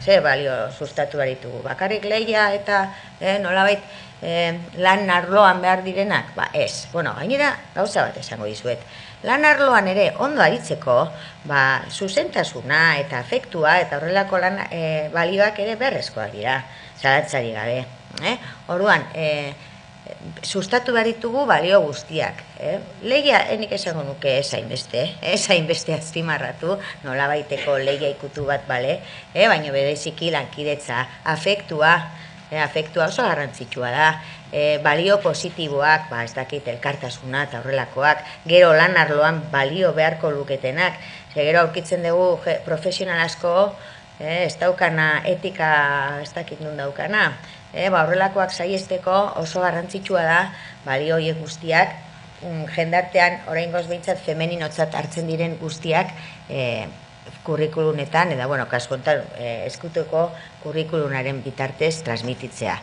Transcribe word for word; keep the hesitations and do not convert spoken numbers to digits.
Ze balio sustatu behar ditugu, bakarrik lehia eta eh, nolabait eh, lan arloan behar direnak? Ba ez, bueno, gainera gauza bat esango dizuet. Lan arloan ere ondo aritzeko, ba, zuzentasuna eta afektua eta horrelako lan eh, balioak ere berrezkoak dira, zalantzari gabe. Eh? Orduan, eh, sustatu behar ditugu balio guztiak. Eh? Lehia, enik esango nuke ez hainbeste, ez hainbeste azpimarratu, nola baiteko lehia ikutu bat, bale? Eh? Baina bereziki lankidetza, afektua, eh, afektua oso garrantzitsua da, eh, balio positiboak, ba, ez dakit elkartasuna eta horrelakoak, gero lan arloan balio beharko luketenak, ze gero aurkitzen dugu je, profesional asko, eh, ez daukana etika, ez dakit nun daukana, E, ba, horrelakoak saiesteko oso garrantzitsua da balio horiek guztiak, um, jendartean oraingoz behintzat femeninotzat hartzen diren guztiak e, kurrikulunetan, eta bueno, kasu honetan e, ezkutuko kurrikulunaren bitartez transmititzea.